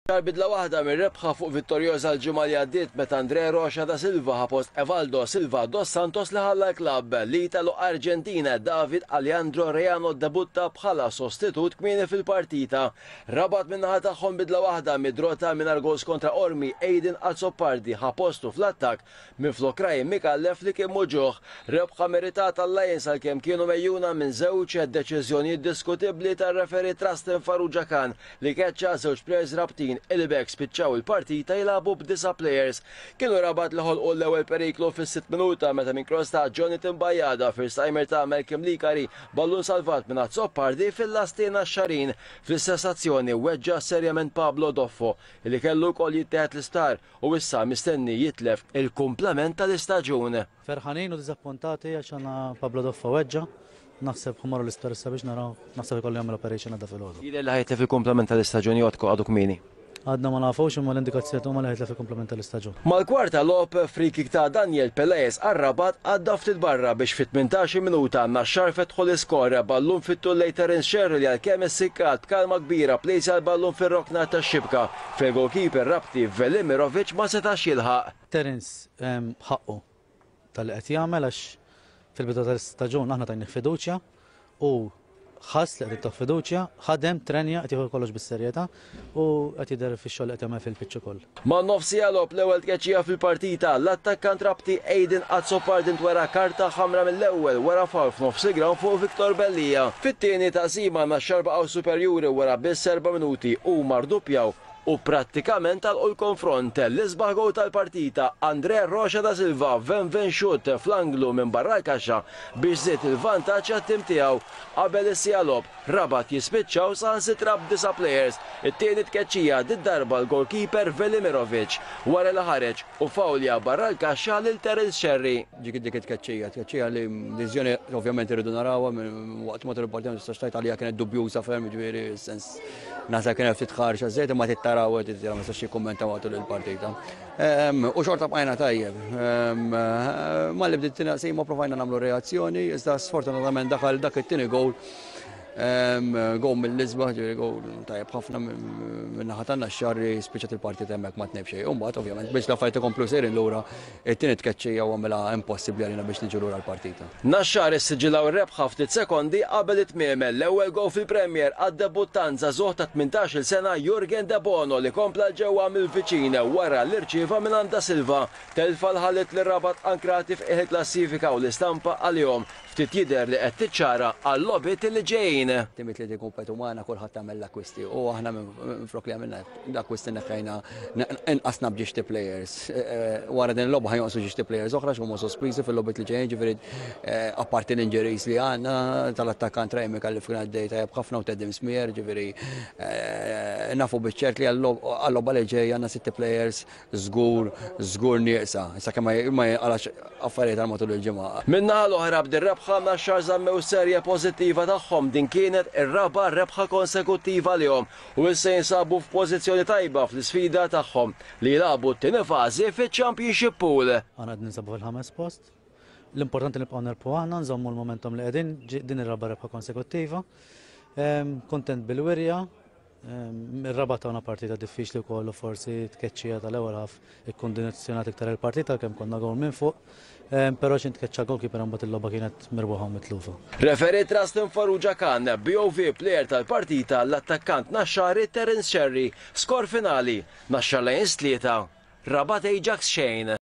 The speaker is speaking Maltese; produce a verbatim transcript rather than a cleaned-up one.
Naxxar bidla waħda mir-rebħa fuq Vittoriosa l-ġimgħa li għaddiet meta Andre Rocha da Silva ħa post Evaldo Silva dos Santos li ħalla l-klabb. L-Italo Arġentina David Alejandro Reano debutta bħala sostitut kmieni fil-partita. Rabat min-naħa tagħhom bidla waħda mid-draw ta' mingħajr goals kontra Qormi. Aiden Azzopardi ħa postu fl-attakk minflok Ryan Micallef li kien muġugħ. Rebħa meritata l-Lions għalkemm kienu megħjuna minn żewġ deċiżjonijiet diskutibbli tar-referee Trustin Farrugia Khan li keċċa żewġ players Rabtin illi b'hekk spiċċaw il-partita jilagħbu b'disa' players. Kienu Rabat li ħolqu l-ewwel periklu fis-sitt minuta meta minn cross ta' Jonathan Bajada, first timer ta' Malcolm Licari, ballun salvat minn Azzopardi fil-lasti Naxxarin. Fl-istess azzjoni weġġa serjament Pablo Doffo li kellu wkoll jittieħed l-isptar u issa mistenni jitlef il-kumplament tal-istaġun. Ferħanin u dizappuntati għax għandna Pablo Doffo weġġa. Naħseb ħa mmorru l-isptar issa biex naraw, naħseb ikollu jagħmel operation għada filgħodu. Jidher li ħa jitlef il-kumplament tal-istaġun jew għadu kmieni? Għadna ma nafux, imma l-indikazzjoni huma li ħa jitlef il-kumplament tal-istaġun. Mal-kwarta logħob, free kick ta' Daniel Pelaez għar-Rabat għadda ftit barra biex fit-tmintax minuta Naxxar fetħu l-iskor, ballun fit-tul lejn Terence Scerri li għalkemm issikkat, b'kalma kbira pplejsja l-ballun fir-rokna tax-xibka fejn goalkeeper Rabti Velimirovic ma setax jilħaq. Terence ħaqqu tal-li qed jagħmel għax fil-bidu tal-istaġun aħna tajnih fiduċja u ħass li qed tagħtuh fiduċja, ħadem, trenja, qed jieħu kollox bis-serjetà u qed jidher fix-xogħol li qed jagħmel fil-pitch ukoll. Ma' nofs logħob, l-ewwel tkeċċija fil-partita, l-attakkant Rabti Aiden Azzopardi ntwera karta ħamra mill-ewwel wara foul f'nofs il-ground fuq Victor Bellija. Fit-tieni taqsima Naxxar baqgħu superjuri, wara biss erba' minuti u rduppjaw u prattikament għalqu l-konfront. L-isbaħ goal tal-partita, Andre Rocha da Silva, ven ven shoot fl-anglu minn barra l-kaxxa biex żied il-vantaġġ għat-tim tiegħu. Qabel is-siegħa logħob, Rabat jispiċċaw saħansitra b'disa' players. It-tieni tkeċċija, did-darba l-goalkeeper Velimirovic wara li ħareġ u fawlja barra l-kaxxa lil Terence Scerri. Dik dik it-tkeċċija, tkeċċija li deċiżjoni ovvjament irridu narawha waqt matul il-partita, ma tistax tgħid għalija kienet dubjuża ferm, ġifieri sens naħseb kienet ftit ħarxa żejt, imma tittaraw ma nistax jikkummenta matul il-partita. U xorta bqajna tajjeb. Malli bdiet taqsima provajna nagħmlu reazzjoni, iżda sfortunatament daħal dak it-tieni goal. Goal mill-isbaħ, ġifieri goal tajjeb ħafna minn naħa tan-Naxxar, spiċċat il-partita hemmhekk ma tnejn b'xejn. U mbagħad ovvjament biex l-affarijiet ikomplu sejrin lura, it-tieni tkeċċija u għamilha impossibbli għalina biex niġu lura l-partita. Naxxar issiġillaw ir-rebħa ftit sekondi qabel it-tmiem. L-ewwel goal fil-Premier għad-debuttant żagħżugħ ta' tmintax-il sena Jurgen De Bono li kompla 'l ġewwa mill-viċin wara li rċieva minn Da Silva. Telfa li ħalliet lir-Rabat ankrati f'qiegħ il-klassifika u l-istampa għalihom ftit jidher li qed tiċċara għal-logħbiet li ġejjin. Timijiet li jikkompetu magħna kulħadd tagħmel l-akkwisti u aħna minflok li għamilna l-akkwisti neħħejna inqasna b'ġiex players. Wara din il-logħba ħa jonqsu żewġ players oħra x'huma sospiżi fil-logħbiet li ġejjin, ġifieri apparti l-injuries li għandna tal-attakkant Rejmi kalli f'kien għaddej tajjeb ħafna u Tedim Smier, ġifieri nafu biċ-ċert li għal-logħba li ġej għandna sitti players żgur żgur nieqsa. Issa kemm ma jinqalax affarijiet għal matul il-ġimgħa. Min-naħa l-oħra, b'dir-rebħa Naxxar żammew serje pożittiva tagħhom. Din kienet ir-raba' rebħa konsekuttiva lilhom u issa jinsabu f'pożizzjoni tajba fl-isfida tagħhom li jilagħbu t-tieni fażi fiċ-Championship Pool. Aħna qed ninsabu fil-ħames post. L-importanti nibqgħu nerbħu aħna, nżommu l-momentum li qegħdin, din ir-raba' rebħa konsekuttiva. Kontent bil-wirja, ir-Rabat tawna partita diffiċli wkoll u forsi tkeċċija tal-ewwel half ikkondizzjonat iktar il-partita kemm konna goal minn fuq. Però x'ħin tkeċċa goalkeeper imbagħad il-logħba kienet mirbuħa u mitlufa. Referee Trustin Farrugia Khan, B O V player tal-partita l-attakkant Naxxari Terence Scerri. Skor finali, Naxxar Lions tlieta, Rabat Ajax xejn.